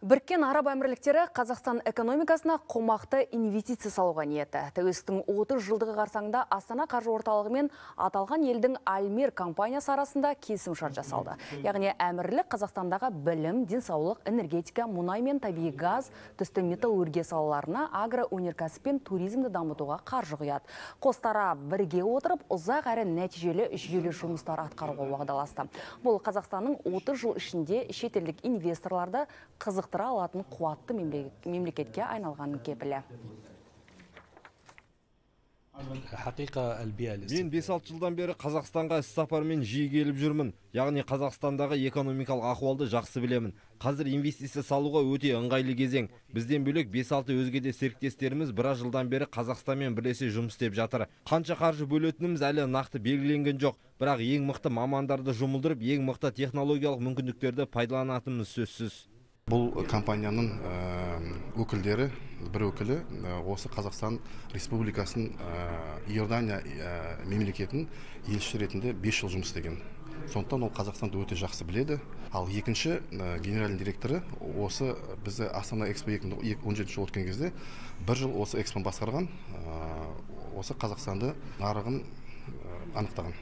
Біріккен Араб Әмірліктері Қазақстан экономикасына қомақты инвестиция салуға ниетті. Тәуелсіздіктің 30 жылдығы қарсаңында Астана қаржы орталығы мен аталған елдің Альмер компаниясы арасында келісімшарт жасалды. Яғни әмірлік Қазақстандағы білім, денсаулық, энергетика, мұнай мен табиғи газ, түсті металлургия салаларына агроөнеркәсіп пен туризмді дамытуға қаржы құяды. Қостара бірге отырып, ұзақ әрі нәтижелі жүйелі жұмыстар атқаруға уағдаласты. Бұл Қазақстанның 30 жыл ішінде шетелдік инвесторларды қызықтыра алатын қуатты мемлекетке айналған кепілі. Мен 5-6 жылдан бері Қазақстанға іс-сапармен жиі келіп жүрмін. Яғни Қазақстандағы экономикалық ахуалды жақсы білемін. Қазір инвестиция салуға өте ыңғайлы кезең. Бізден бөлек 5-6 өзге де серіктестеріміз біраз жылдан бері Қазақстанмен бірлесе жұмыс істеп жатыр. Қанша қаржы бөлетініміз әлі нақты белгіленген жоқ. Бірақ ең мықты мамандарды жұмылдырып, ең мықты технологиялық мүмкіндіктерді пайдаланатынымыз сөзсіз. Бұл компанияның өкілдері, бір өкілі осы Қазақстан Республикасының Иордания мемлекетінің елшісі ретінде 5 жыл жұмыс істеген. Сондықтан ол Қазақстанды өте жақсы біледі. Ал екінші генеральный директоры осы бізді Астана Экспо 2017 жыл өткен кезде 1 жыл осы экспоны басқарған, осы Қазақстанды нарығын анықтаған.